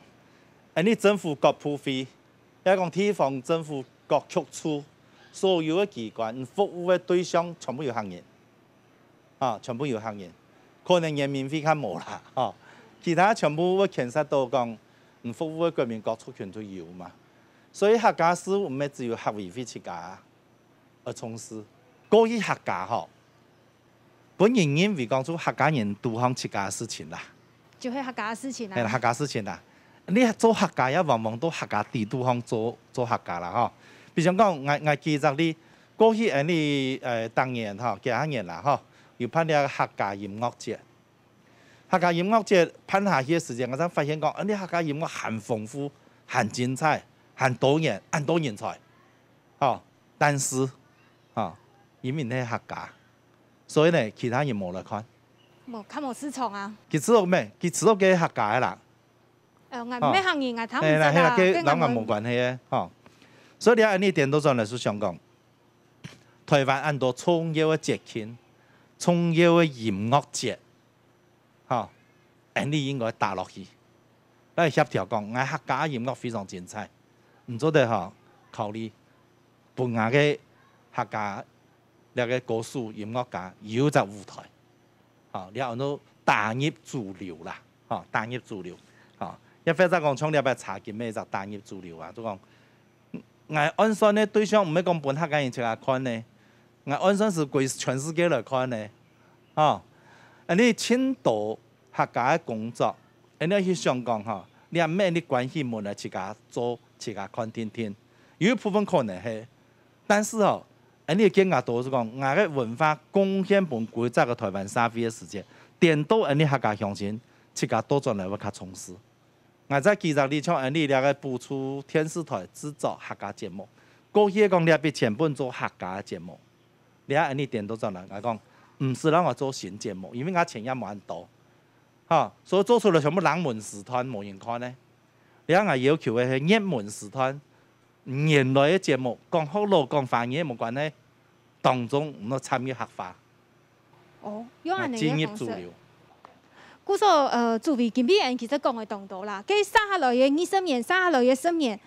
，𠊎等政府各部會，也講地方政府各局處，所有个機關，服務个對象全部有客人，啊，全部有客人，可能原民會較無啦，吼。其他全部會牽涉到講，服務个國民各族群都有嘛。所以客家事務毋係只有客委會自家 愛重視。過去客家吼，分人認為講就客家人獨項自家个事情啦。就係客家个事情啦。係啦，客家事情啦。你做客家也往往都客家底肚項做，做客家啦吼。比如講，𠊎，𠊎舉隻例，過去𠊎等，呃，當年吼，幾下年啦吼，有辦這个客家音樂節。客家音樂節辦下去个時間，𠊎正發現講，𠊎等客家音樂還豐富、還精彩、還多元、還多人才。 吼，但是，吼，因為你係客家，所以呢，其他人無來看。無，較無市場啊。佢知道咩？佢知道个客家个啦。呃，𠊎毋係客人，𠊎聽毋識啦，係啦，係啦，該摎𠊎無關係个，吼。所以你看，恁呢顛倒轉來就想講，台灣恁多重要个節慶、重要个音樂節， 吼，恁呢應該打落去。來協調講，𠊎客家音樂非常精彩，你做得吼考慮分𠊎个客家這个歌手音樂家有隻舞台，吼，這安到打入主流啦，吼，打入主流，吼，也或者講像這擺茶金乜一隻打入主流啊，就講 𠊎按算个對象毋係講分客家人自家看呢，𠊎按算係歸全世界來看呢。吼，恁呢盡多客家个工作，恁呢去想講吼，你也毋係你關起門來自家做，自家看定定。有一部分可能係，但是吼，恁呢更加多係講，𠊎个文化貢獻分歸隻个台灣社會个時節，顛倒恁呢客家鄉親自家倒轉來會較重視。 𠊎再舉隻例，像恁呢這个補助電視台製作客家節目，過去講這筆錢分做客家个節目，這下恁呢顛倒轉來，𠊎講，毋使摎𠊎做新節目，因為𠊎錢也無恁多，吼，所以做出來全部冷門時段，無人看呢。這下𠊎要求个係熱門時段， 原來个節目，講學老、講華語無關係，當中毋好摻入客話。哦，有恁呢个方式。進入主流。故所，呃，主委今晡日其實講个當多啦，該接下來个二十年，接下來个十年，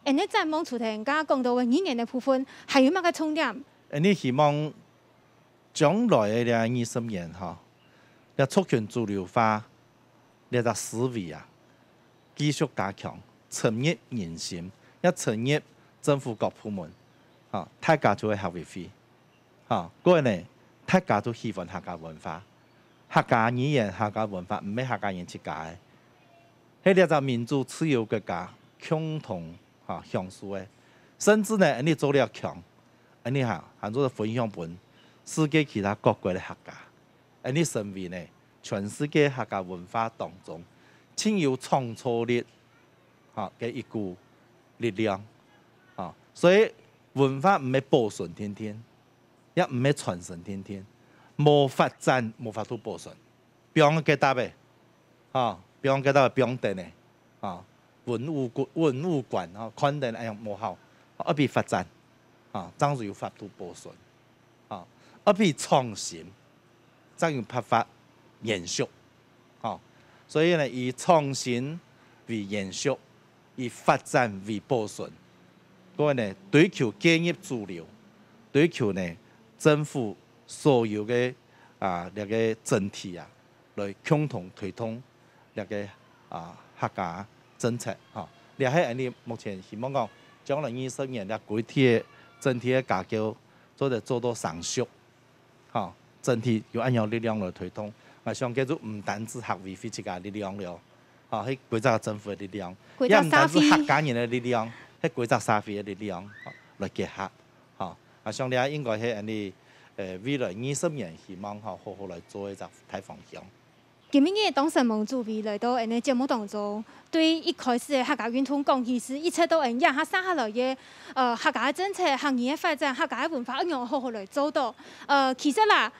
恁呢展望除忒頭先講到个語言个部分，還有麼个重點？恁呢希望 將來个這二十年吼，這族群主流化這隻思維啊，繼續加強，深入人心，也深入政府各部門，吼，大家就會合為會，吼，過呢，大家都喜歡客家文化，客家語言、客家文化毋係客家人自家个，係這隻民主自由國家共同，吼，享受个，甚至呢，恁呢做了強， 恁呢哈，還做得分享分世界其他各國个客家，恁呢成為呢，全世界客家文化當中盡有創造力，哈，个一股力量，哈。所以文化毋係保存定定，也毋係傳承定定，無發展無法度保存。 放結搭个，吼，放結搭个放等个，吼，文物館，文物館，吼，看等哎呀無效，愛分發展，吼，正有法度保存，吼，愛分創新，正有辦法延續，吼。所以呢，以創新為延續，以發展為保存，各位呢，追求介入主流，追求呢政府所有个啊這个整體啊， 來共同推動這个啊客家政策，吼。這係𠊎等目前希望講，將來二十年這歸體个整體个架構做得做到成熟，吼，整體有恁樣力量來推動。𠊎想這就毋單止客委會自家力量了，吼，係歸隻政府个力量，歸隻社會。也毋單止客家人个力量，係歸隻社會个力量，吼，來結合，吼。啊，想這應該係𠊎俚，呃，未來二十年希望，吼，好好來做一隻大方向。 今晡日當承蒙主委來到𠊎等个節目當中，對一開始个客家運動講起，係一直到𠊎等這下生下來个，呃，客家个政策、客語个發展、客家个文化，仰般好好來做到。呃，其實啦，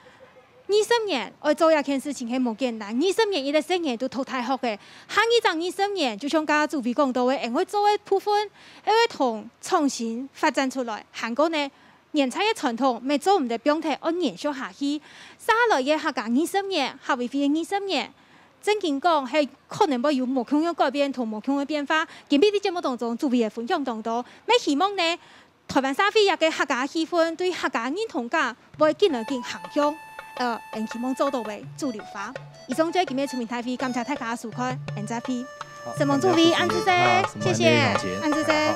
二十年愛做這件事情係無簡單，二十年一個細人都讀大學个，下二隻二十年，就像剛剛主委講到个，𠊎等愛做个部分，愛同創新發展出來，還過呢， 原在个傳統，乜做毋得放忒，愛延續下去。接下來个客家二十年，客委會个二十年，正經講係可能會有無共樣改變同無共樣變化。今晡日節目當中，主委个分享當多，乜希望呢，臺灣社會這個客家氣氛對客家認同感會緊來緊行向，呃，𠊎希望做到个主流化。以上就係今日个全民大會，感謝大家收看，𠊎再會。 承蒙主委，恁仔細，謝謝，恁仔細。